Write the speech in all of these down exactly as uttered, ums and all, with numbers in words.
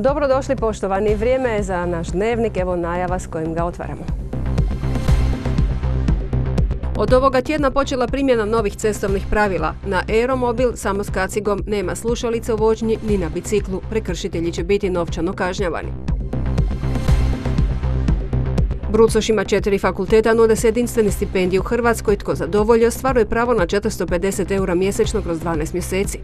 Dobrodošli poštovani, vrijeme je za naš dnevnik, evo najava s kojim ga otvaramo. Od ovoga tjedna počela primjena novih cestovnih pravila. Na aeromobil samo s kacigom nema slušalice u vožnji ni na biciklu. Prekršitelji će biti novčano kažnjavani. Brucošima četiri fakulteta nude se jedinstveni stipendije u Hrvatskoj. Tko zadovolji ostvaruje pravo na četiristo pedeset eura mjesečno kroz dvanaest mjeseci.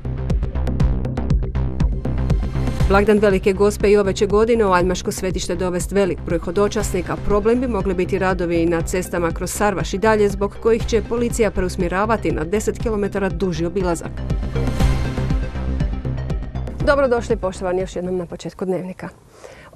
Blagdan Velike Gospe i ove će godine u Aljmaško svetište dovesti velik broj hodočasnika. Problem bi mogli biti radovi na cestama kroz Sarvaš i dalje, zbog kojih će policija preusmjeravati na deset kilometara duži obilazak. Dobrodošli poštovani još jednom na početku dnevnika.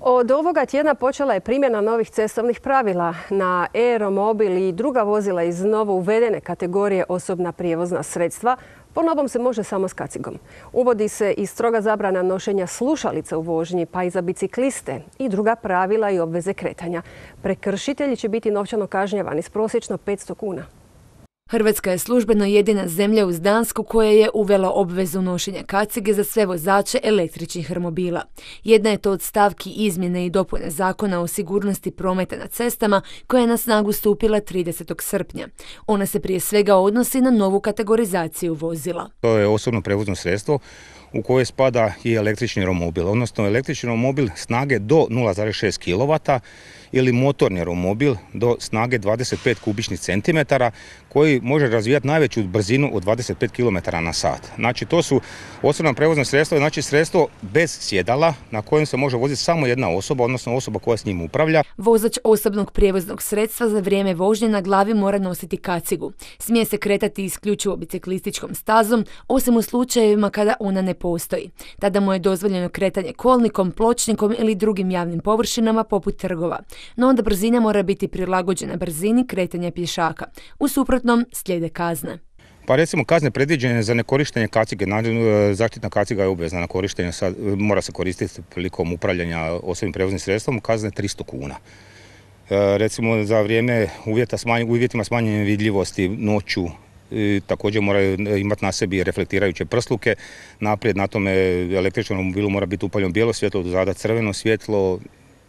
Od ovoga tjedna počela je primjena novih cestovnih pravila. Na aeromobil i druga vozila iz novo uvedene kategorije osobna prijevozna sredstva po novom se može samo s kacigom. Uvodi se i stroga zabrana nošenja slušalica u vožnji, pa i za bicikliste i druga pravila i obveze kretanja. Prekršitelji će biti novčano kažnjavani s prosječno petsto kuna. Hrvatska je službeno jedina zemlja uz Dansku koja je uvela obvezu nošenja kacige za sve vozače električnih romobila. Jedna je to od stavki izmjene i dopune Zakona o sigurnosti prometa na cestama koja je na snagu stupila tridesetog srpnja. Ona se prije svega odnosi na novu kategorizaciju vozila. To je osobno prevozno sredstvo u koje spada i električni romobil, odnosno električni romobil snage do nula zarez šest kilovata ili motorni romobil do snage dvadeset pet kubičnih centimetara koji može razvijati najveću brzinu od dvadeset pet kilometara na sat. Znači to su osobna prevozna sredstva, znači sredstvo bez sjedala na kojem se može voziti samo jedna osoba, odnosno osoba koja s njim upravlja. Vozač osobnog prijevoznog sredstva za vrijeme vožnje na glavi mora nositi kacigu. Smije se kretati isključivo biciklističkom stazom, osim u slučajevima kada ona ne postoji. Tada mu je dozvoljeno kretanje kolnikom, pločnikom ili drugim javnim površinama poput trgova. No onda brzina mora biti prilagođena brzini kretanja pješaka. U suprotnom slijede kazne. Pa recimo kazne predviđene za nekorištenje kacige, zaštitna kaciga je obvezna na korištenje, sad, mora se koristiti prilikom upravljanja osobnim prevoznim sredstvom, kazne tristo kuna. E, recimo za vrijeme uvjeta smanj, uvjetima smanjene vidljivosti noću, I također moraju imati na sebi reflektirajuće prsluke. Naprijed na tome električnom romobilu mora biti upaljeno bijelo svjetlo, dozada crveno svjetlo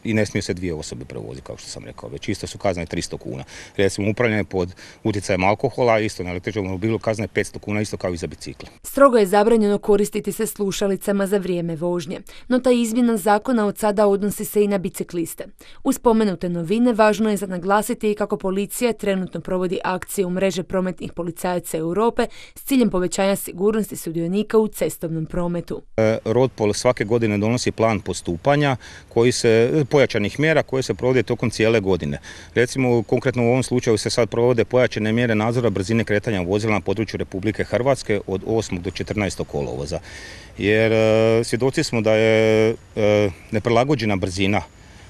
i ne smiju se dvije osobe prevoziti, kao što sam rekao. Već isto su kazne tristo kuna. Recimo upravljanje pod utjecajem alkohola, isto na električnom romobilu kazne petsto kuna, isto kao i za bicikle. Strogo je zabranjeno koristiti se slušalicama za vrijeme vožnje, no ta izmjena zakona od sada odnosi se i na bicikliste. Uz spomenute novine važno je za naglasiti i kako policija trenutno provodi akcije u mreže prometnih policajaca Europe s ciljem povećanja sigurnosti sudionika u cestovnom prometu. Rodpol svake godine donosi plan postupanja koji se pojačanih mjera koje se provode tokom cijele godine. Recimo, konkretno u ovom slučaju se sad provode pojačane mjere nadzora brzine kretanja vozila na području Republike Hrvatske od osmog do četrnaestog kolovoza. Jer e, svjedoci smo da je e, neprilagođena brzina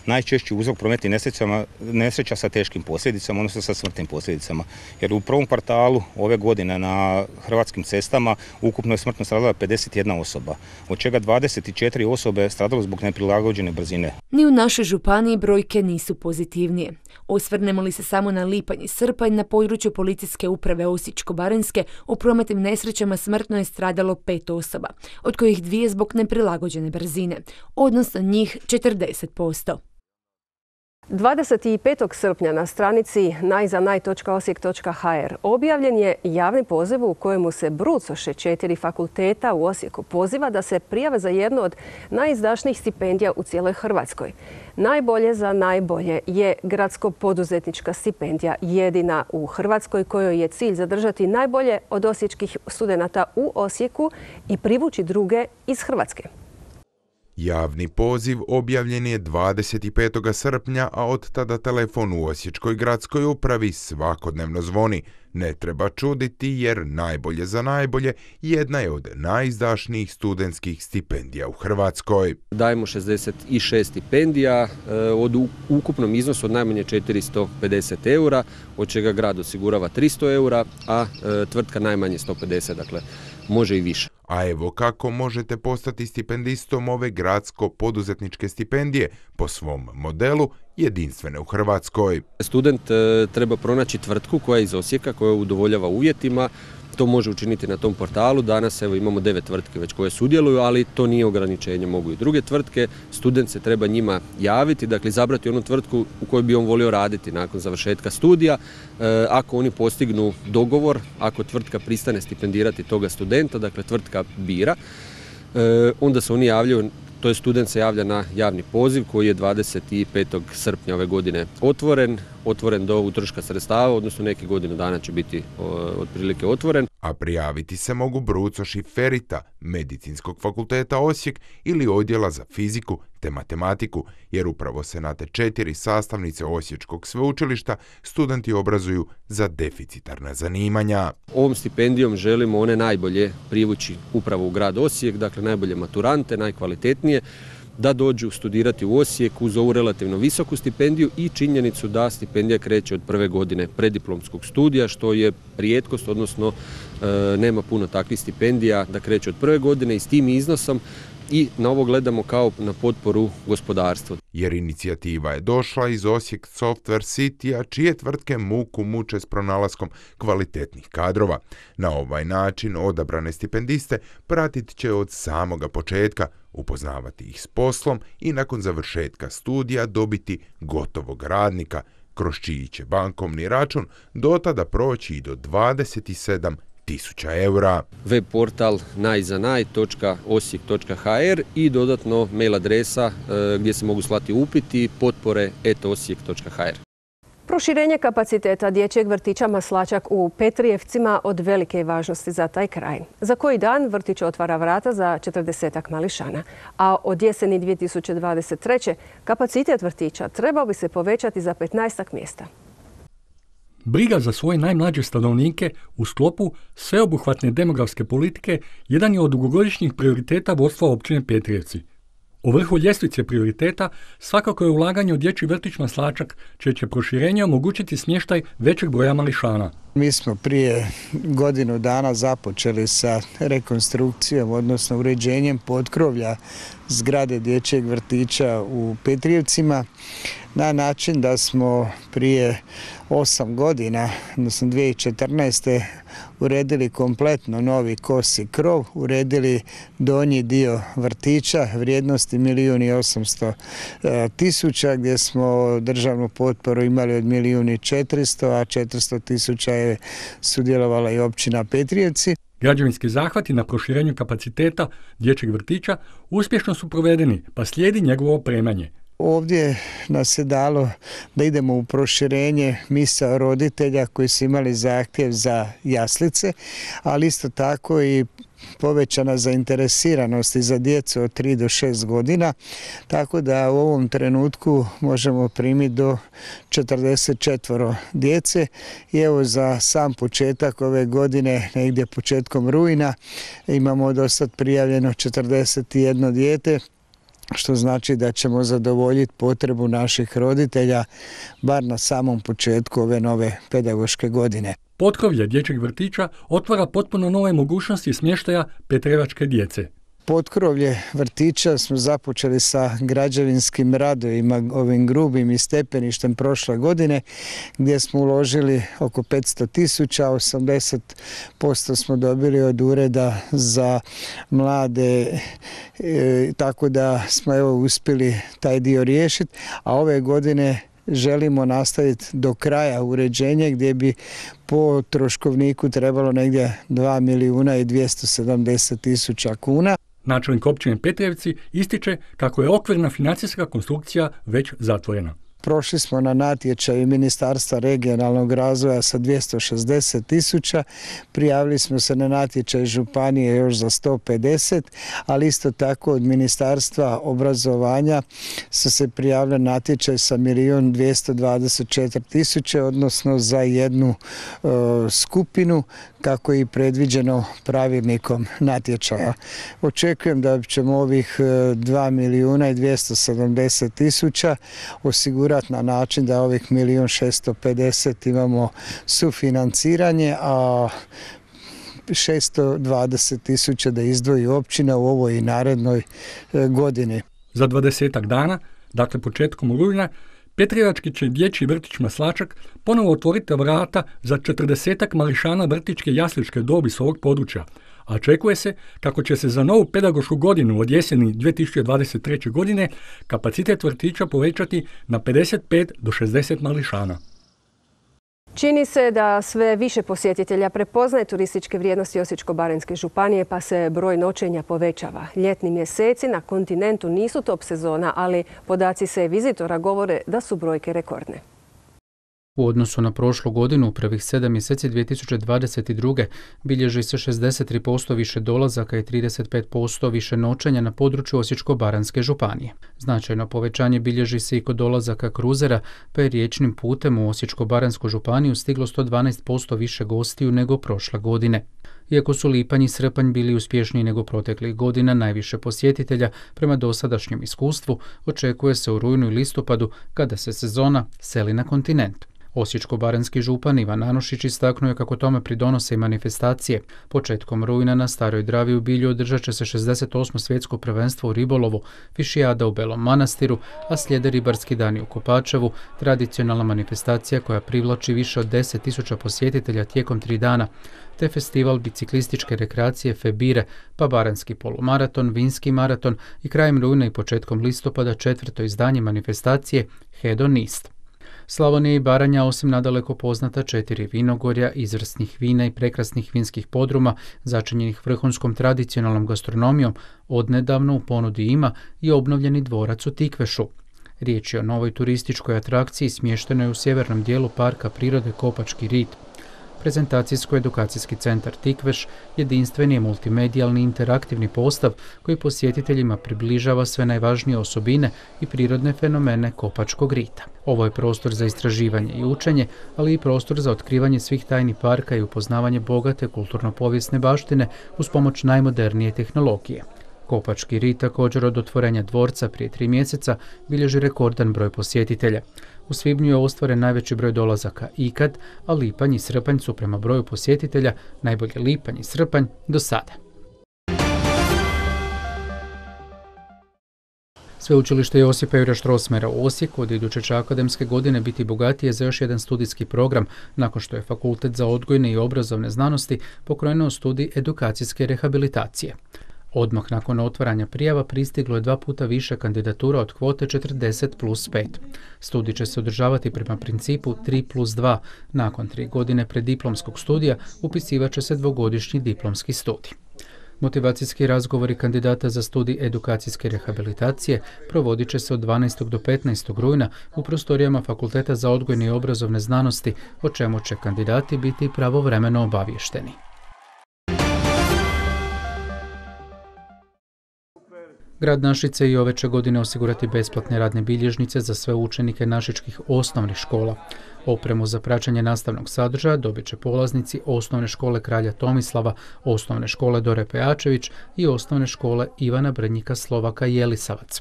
najčešći uzrok prometnih nesrećama, nesreća sa teškim posljedicama, odnosno sa smrtnim posljedicama. Jer u prvom kvartalu ove godine na hrvatskim cestama ukupno je smrtno stradala pedeset jedna osoba, od čega dvadeset četiri osobe stradalo zbog neprilagođene brzine. Ni u našoj županiji brojke nisu pozitivnije. Osvrnemo li se samo na lipanj i srpanj, na području policijske uprave Osječko-baranjske u prometnim nesrećama smrtno je stradalo pet osoba, od kojih dvije zbog neprilagođene brzine, odnosno njih četrdeset posto. dvadeset petog srpnja na stranici najzanaj točka osijek točka ha er objavljen je javni poziv u kojemu se brucoše četiri fakulteta u Osijeku poziva da se prijave za jednu od najizdašnijih stipendija u cijeloj Hrvatskoj. Najbolje za najbolje je gradsko-poduzetnička stipendija, jedina u Hrvatskoj kojoj je cilj zadržati najbolje od osječkih studenata u Osijeku i privući druge iz Hrvatske. Javni poziv objavljen je dvadeset petog srpnja, a od tada telefon u Osječkoj gradskoj upravi svakodnevno zvoni. Ne treba čuditi jer najbolje za najbolje jedna je od najizdašnijih studentskih stipendija u Hrvatskoj. Dajemo šezdeset šest stipendija od ukupnom iznosu od najmanje četiristo pedeset eura, od čega grad osigurava tristo eura, a tvrtka najmanje sto pedeset, dakle može i više. A evo kako možete postati stipendistom ove gradsko-poduzetničke stipendije po svom modelu jedinstvene u Hrvatskoj. Student e, treba pronaći tvrtku koja je iz Osijeka, koja udovoljava uvjetima. to može učiniti na tom portalu. Danas evo imamo devet tvrtke već koje sudjeluju, ali to nije ograničenje, mogu i druge tvrtke. Student se treba njima javiti, dakle izabrati onu tvrtku u kojoj bi on volio raditi nakon završetka studija. E, ako oni postignu dogovor, ako tvrtka pristane stipendirati toga studenta, dakle tvrtka bira, e, onda se oni javljaju. To je student se javlja na javni poziv koji je dvadeset petog srpnja ove godine otvoren, otvoren do utroška sredstava, odnosno neki godinu dana će biti o, otprilike otvoren. A prijaviti se mogu brucoši Ferita, Medicinskog fakulteta Osijek ili odjela za fiziku te matematiku, jer upravo se na te četiri sastavnice Osječkog sveučilišta studenti obrazuju za deficitarna zanimanja. Ovom stipendijom želimo one najbolje privući upravo u grad Osijek, dakle najbolje maturante, najkvalitetnije, da dođu studirati u Osijek uz ovu relativno visoku stipendiju i činjenicu da stipendija kreće od prve godine preddiplomskog studija, što je rijetkost, odnosno e, nema puno takvih stipendija da kreće od prve godine i s tim iznosom i na ovo gledamo kao na potporu gospodarstvu. Jer inicijativa je došla iz Osijek Software City-a, čije tvrtke muku muče s pronalaskom kvalitetnih kadrova. Na ovaj način odabrane stipendiste pratit će od samoga početka, upoznavati ih s poslom i nakon završetka studija dobiti gotovog radnika, kroz čiji će bankovni račun do tada proći i do dvadeset sedam tisuća eura. Web portal najzanaj točka osijek točka ha er i dodatno mail adresa e, gdje se mogu slati upiti potpore et osijek točka ha er. Proširenje kapaciteta dječjeg vrtića Maslačak u Petrijevcima od velike je važnosti za taj kraj. Za koji dan vrtić otvara vrata za četrdesetak mališana, a od jeseni dvije tisuće dvadeset treće kapacitet vrtića trebao bi se povećati za petnaestak mjesta. Briga za svoje najmlađe stanovnike u sklopu sveobuhvatne demografske politike jedan je od dugogodišnjih prioriteta vodstva općine Petrijevci. U vrhu ljestvice prioriteta svakako je ulaganje u dječji vrtić Maslačak, čije će proširenje omogućiti smještaj većeg broja mališana. Mi smo prije godinu dana započeli sa rekonstrukcijom, odnosno uređenjem potkrovlja zgrade dječjeg vrtića u Petrijevcima na način da smo prije osam godina, odnosno dvije tisuće četrnaeste. uredili kompletno novi kosi krov, uredili donji dio vrtića vrijednosti milijun i osamsto tisuća, gdje smo državnu potporu imali od milijun i četiristo, a četiristo tisuća je sudjelovala i općina Petrijevci. Građevinski zahvati na proširenju kapaciteta dječjeg vrtića uspješno su provedeni, pa slijedi njegovo opremanje. Ovdje nas je dalo da idemo u proširenje misao roditelja koji su imali zahtjev za jaslice, ali isto tako i povećana zainteresiranost i za djecu od tri do šest godina, tako da u ovom trenutku možemo primiti do četrdeset četiri djece i evo za sam početak ove godine, negdje početkom rujna, imamo do sad prijavljeno četrdeset jedno dijete, što znači da ćemo zadovoljiti potrebu naših roditelja bar na samom početku ove nove pedagoške godine. Potkrovlje dječjeg vrtića otvara potpuno nove mogućnosti smještaja petrevačke djece. Potkrovlje vrtića smo započeli sa građevinskim radovima, ovim grubim i stepeništem prošle godine, gdje smo uložili oko petsto tisuća, osamdeset posto smo dobili od ureda za mlade, e, tako da smo evo uspjeli taj dio riješiti, a ove godine želimo nastaviti do kraja uređenje gdje bi po troškovniku trebalo negdje dva milijuna i dvjesto sedamdeset tisuća kuna. Načelnik općine Petrijevci ističe kako je okvirna financijska konstrukcija već zatvorena. Prošli smo na natječaju Ministarstva regionalnog razvoja sa dvjesto šezdeset tisuća, prijavili smo se na natječaj županije još za sto pedeset, ali isto tako od Ministarstva obrazovanja su se prijavili natječaj sa milijun dvjesto dvadeset četiri tisuće, odnosno za jednu e, skupinu, kako je i predviđeno pravilnikom natječaja. Očekujem da ćemo ovih dva milijuna i dvjesto sedamdeset tisuća osigurati na način da ovih milijun šesto pedeset imamo sufinanciranje, a šesto dvadeset tisuća da izdvoji općina u ovoj i narednoj godini. Za dvadesetak dana, dakle početkom rujna, Petrijevački će dječji vrtić Maslačak ponovo otvoriti vrata za četrdesetak mališana vrtićke jasličke dobi s ovog područja, a očekuje se kako će se za novu pedagošku godinu od jeseni dvije tisuće dvadeset treće. godine kapacitet vrtića povećati na pedeset pet do šezdeset mališana. Čini se da sve više posjetitelja prepoznaje turističke vrijednosti Osječko-baranjske županije, pa se broj noćenja povećava. Ljetni mjeseci na kontinentu nisu top sezona, ali podaci se vizitora govore da su brojke rekordne. U odnosu na prošlu godinu, u prvih sedam mjeseci dvije tisuće dvadeset druge. bilježi se šezdeset tri posto više dolazaka i trideset pet posto više noćenja na području Osječko-baranjske županije. Značajno povećanje bilježi se i kod dolazaka kruzera, pa je riječnim putem u Osječko-baranjsku županiju stiglo sto dvanaest posto više gostiju nego prošle godine. Iako su lipanj i srpanj bili uspješniji nego proteklih godina, najviše posjetitelja prema dosadašnjem iskustvu očekuje se u rujnu i listopadu kada se sezona seli na kontinent. Osječko-baranjski župan Ivan Nanušić istaknuo je kako tome pridonose i manifestacije. Početkom rujna na Staroj Dravi u Bilju održat će se šezdeset osmo svjetsko prvenstvo u ribolovu, fišijada u Belom Manastiru, a slijede ribarski dani u Kopačevu, tradicionalna manifestacija koja privlači više od deset tisuća posjetitelja tijekom tri dana, te festival biciklističke rekreacije Febire, pa baranjski polumaraton, vinski maraton i krajem rujna i početkom listopada četvrto izdanje manifestacije Hedonist. Slavonija i Baranja, osim nadaleko poznata četiri vinogorja, izvrsnih vina i prekrasnih vinskih podruma, začinjenih vrhunskom tradicionalnom gastronomijom, odnedavno u ponudi ima i obnovljeni dvorac u Tikvešu. Riječ je o novoj turističkoj atrakciji smještenoj u sjevernom dijelu Parka prirode Kopački rit. Prezentacijsko-edukacijski centar Tikveš jedinstveni je multimedijalni interaktivni postav koji posjetiteljima približava sve najvažnije osobine i prirodne fenomene Kopačkog rita. Ovo je prostor za istraživanje i učenje, ali i prostor za otkrivanje svih tajni parka i upoznavanje bogate kulturno-povijesne baštine uz pomoć najmodernije tehnologije. Kopački rit također od otvorenja dvorca prije tri mjeseca bilježi rekordan broj posjetitelja. U svibnju je ostvaren najveći broj dolazaka ikad, a lipanj i srpanj su prema broju posjetitelja najbolje lipanj i srpanj do sada. Sveučilište Josipa Jurja Strossmayera u Osijeku od iduće će akademske godine biti bogatije za još jedan studijski program, nakon što je Fakultet za odgojne i obrazovne znanosti pokrenuo studij edukacijske rehabilitacije. Odmah nakon otvaranja prijava pristiglo je dva puta više kandidatura od kvote četrdeset plus pet. Studij će se održavati prema principu tri plus dva. Nakon tri godine preddiplomskog studija upisivat će se dvogodišnji diplomski studij. Motivacijski razgovori kandidata za studij edukacijske rehabilitacije provodit će se od dvanaestog do petnaestog rujna u prostorijama Fakulteta za odgojne i obrazovne znanosti, o čemu će kandidati biti pravovremeno obavješteni. Grad Našice i ove će godine osigurati besplatne radne bilježnice za sve učenike našičkih osnovnih škola. Opremu za praćenje nastavnog sadržaja dobit će polaznici Osnovne škole Kralja Tomislava, Osnovne škole Dore Pejačević i Osnovne škole Ivana Brnjika Slovaka Jelisavac.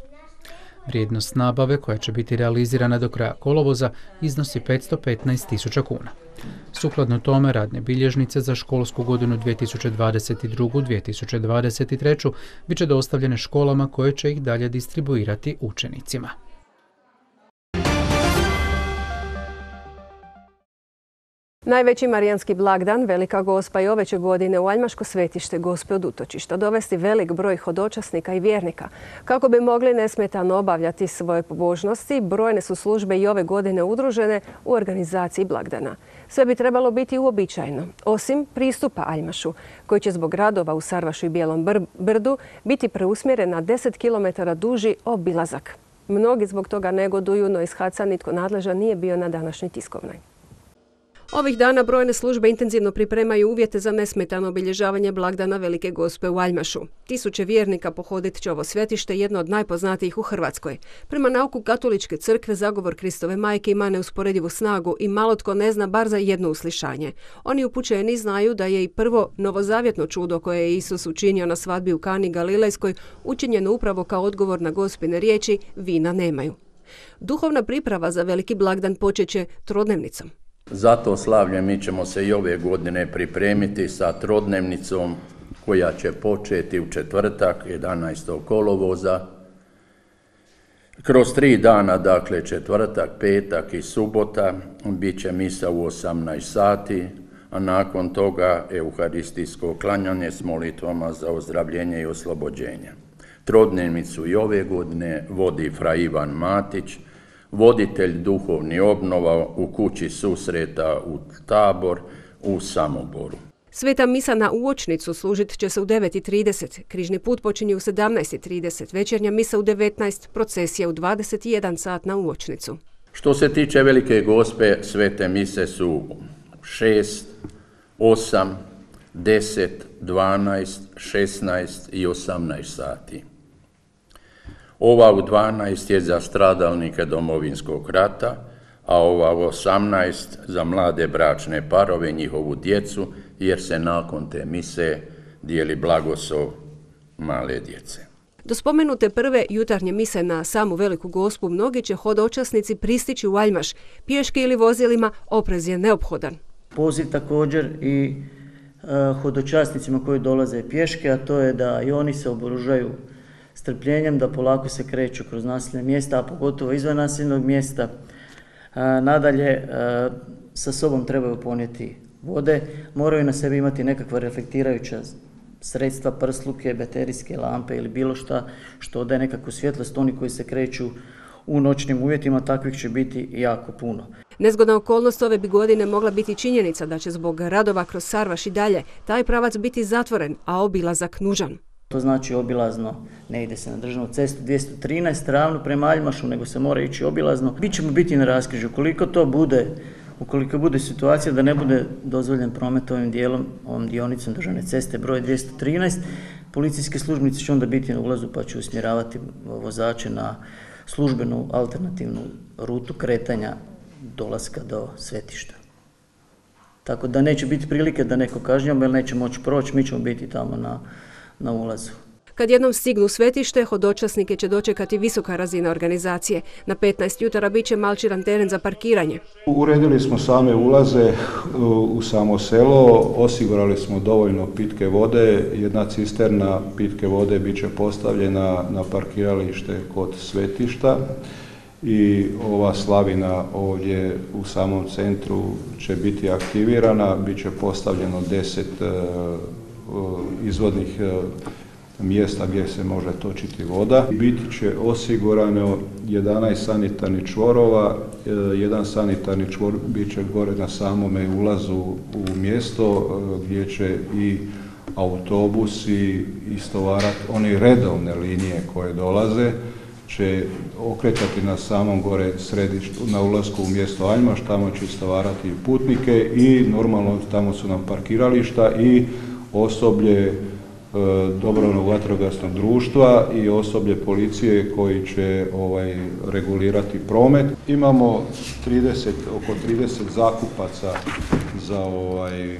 Vrijednost nabave, koja će biti realizirana do kraja kolovoza, iznosi petsto petnaest tisuća kuna. Sukladno tome, radne bilježnice za školsku godinu dvije tisuće dvadeset drugu dvije tisuće dvadeset treću bit će dostavljene školama koje će ih dalje distribuirati učenicima. Najveći marijanski blagdan, Velika Gospa, i ove će godine u Aljmaško svetište Gospe od utočišta dovesti velik broj hodočasnika i vjernika. Kako bi mogli nesmetano obavljati svoje pobožnosti, brojne su službe i ove godine udružene u organizaciji blagdana. Sve bi trebalo biti uobičajeno, osim pristupa Aljmašu, koji će zbog radova u Sarvašu i Bijelom brdu biti preusmjeren na deset kilometara duži obilazak. Mnogi zbog toga negoduju, no iz Haca nitko nadležan nije bio na današnjoj tiskovnoj. Ovih dana brojne službe intenzivno pripremaju uvjete za nesmetano obilježavanje blagdana Velike Gospe u Aljmašu. Tisuće vjernika pohodit će ovo svetište, jedno od najpoznatijih u Hrvatskoj. Prema nauku Katoličke crkve, zagovor Kristove majke ima neusporedivu snagu i malo tko ne zna bar za jedno uslišanje. Oni upućeni znaju da je i prvo novozavjetno čudo koje je Isus učinio na svadbi u Kani Galilejskoj učinjeno upravo kao odgovor na Gospine riječi "Vina nemaju". Duhovna priprava za veliki blagdan počeće trodnevnicom. Za to slavlje mi ćemo se i ove godine pripremiti sa trodnevnicom koja će početi u četvrtak, jedanaestog kolovoza. Kroz tri dana, dakle četvrtak, petak i subota, bit će misa u osamnaest sati, a nakon toga euharistijsko klanjanje s molitvama za ozdravljenje i oslobođenje. Trodnevnicu i ove godine vodi fra Ivan Matić, voditelj duhovni obnova u kući susreta u Tabor u Samoboru. Sveta misa na uočnicu služit će se u devet i trideset, križni put počinje u sedamnaest i trideset, večernja misa u devetnaest, procesija u dvadeset i jedan sat na uočnicu. Što se tiče Velike Gospe, svete mise su šest, osam, deset, dvanaest, šesnaest i osamnaest sati. Ova u dvanaest je za stradalnike Domovinskog rata, a ova u osamnaest za mlade bračne parove i njihovu djecu, jer se nakon te mise dijeli blagoslov male djece. Do spomenute prve jutarnje mise na samu Veliku Gospu mnogi će hodočasnici pristići u Aljmaš. Pješke ili vozilima oprez je neophodan. Poziv također i uh, hodočasnicima koji dolaze pješke, a to je da i oni se oboružaju strpljenjem, da polako se kreću kroz naseljena mjesta, a pogotovo izvan naseljenog mjesta. Uh, nadalje, uh, sa sobom trebaju ponijeti vode, moraju na sebi imati nekakva reflektirajuća sredstva, prsluke, baterijske lampe ili bilo šta što daje nekakvu svjetlost. Oni koji se kreću u noćnim uvjetima, takvih će biti jako puno. Nezgodna okolnost ove bi godine mogla biti činjenica da će zbog radova kroz Sarvaš i dalje taj pravac biti zatvoren, a obilazak nužan. To znači obilazno, ne ide se na državnu cestu dvjesto trinaest ravno prema Aljmašu, nego se mora ići obilazno. Mi ćemo biti na raskrižju. Ukoliko to bude, ukoliko bude situacija da ne bude dozvoljen promet ovim dijelom, ovom dionicom državne ceste broj dvjesto trinaest, policijske službenice će onda biti na ulazu pa će usmjeravati vozače na službenu alternativnu rutu kretanja dolaska do svetišta. Tako da neće biti prilike da neko kažnjava jer neće moći proći, mi ćemo biti tamo na, na ulazu. Kad jednom stignu u svetište, hodočasnike će dočekati visoka razina organizacije. Na petnaest jutara bit će malčiran teren za parkiranje. Uredili smo same ulaze u samo selo, osigurali smo dovoljno pitke vode. Jedna cisterna pitke vode bit će postavljena na parkiralište kod svetišta i ova slavina ovdje u samom centru će biti aktivirana. Bit će postavljeno deset izvodnih mjesta gdje se može točiti voda. Biti će osigurano jedanaest sanitarnih čvorova, jedan sanitarni čvor bit će gore na samome ulazu u mjesto gdje će i autobusi istovarati, one redovne linije koje dolaze, će okretati na samom gore središtu, na ulasku u mjesto Aljmaš, tamo će istovarati putnike i normalno tamo su nam parkirališta i osoblje dobrovoljnog vatrogasnog društva i osoblje policije koji će ovaj, regulirati promet. Imamo trideset, oko trideset zakupaca za ovaj,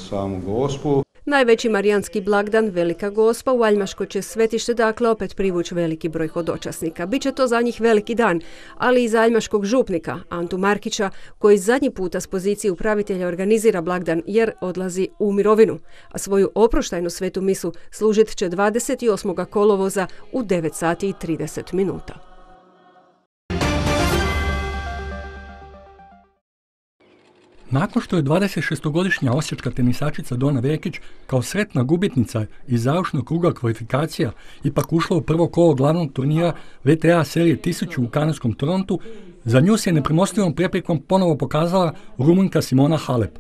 samu Gospu. Najveći marijanski blagdan, Velika Gospa, u Aljmaško će svetište dakle opet privući veliki broj hodočasnika. Biće to za njih veliki dan, ali i za aljmaškog župnika, Antu Markića, koji zadnji puta s pozicije upravitelja organizira blagdan jer odlazi u mirovinu. A svoju oproštajnu svetu misu služit će dvadeset osmog kolovoza u devet sati i trideset minuta. Nakon što je dvadesetšestogodišnja osječka tenisačica Dona Vekić kao sretna gubitnica iz završnog kruga kvalifikacija ipak ušla u prvo kolo glavnog turnira V T A serije tisuću u kanadskom Torontu, za nju se nepremostivom preprekom ponovo pokazala Rumunjka Simona Halep.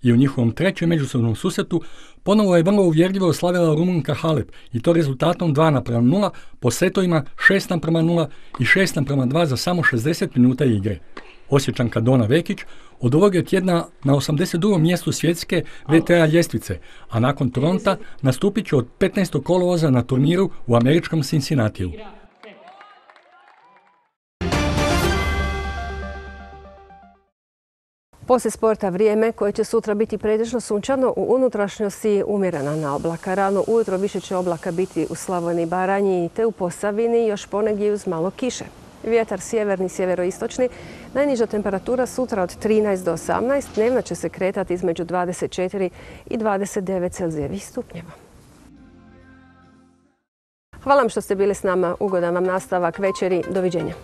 I u njihovom trećem međusobnom susretu ponovo je vrlo uvjerljivo oslavila Rumunjka Halep i to rezultatom dva naprema nula po setovima šest naprema nula i šest naprema dva za samo šezdeset minuta igre. Osječanka Dona Vekić od ovog je tjedna na osamdeset drugom mjestu svjetske V T A ljestvice, a nakon Toronta nastupit će od petnaestog kolovoza na turniru u američkom Cincinnatiju. Poslije sporta vrijeme koje će sutra biti pretežno sunčano, u unutrašnjosti umjerena na oblaka. Rano ujutro više će oblaka biti u Slavoniji i Baranji te u Posavini, još ponegdje uz malo kiše. Vjetar sjeverni, sjeveroistočni. Najniža temperatura sutra od trinaest do osamnaest, dnevna će se kretati između dvadeset četiri i dvadeset devet celzijevih stupnjeva. Hvala vam što ste bili s nama. Ugodan vam nastavak večeri. Doviđenja.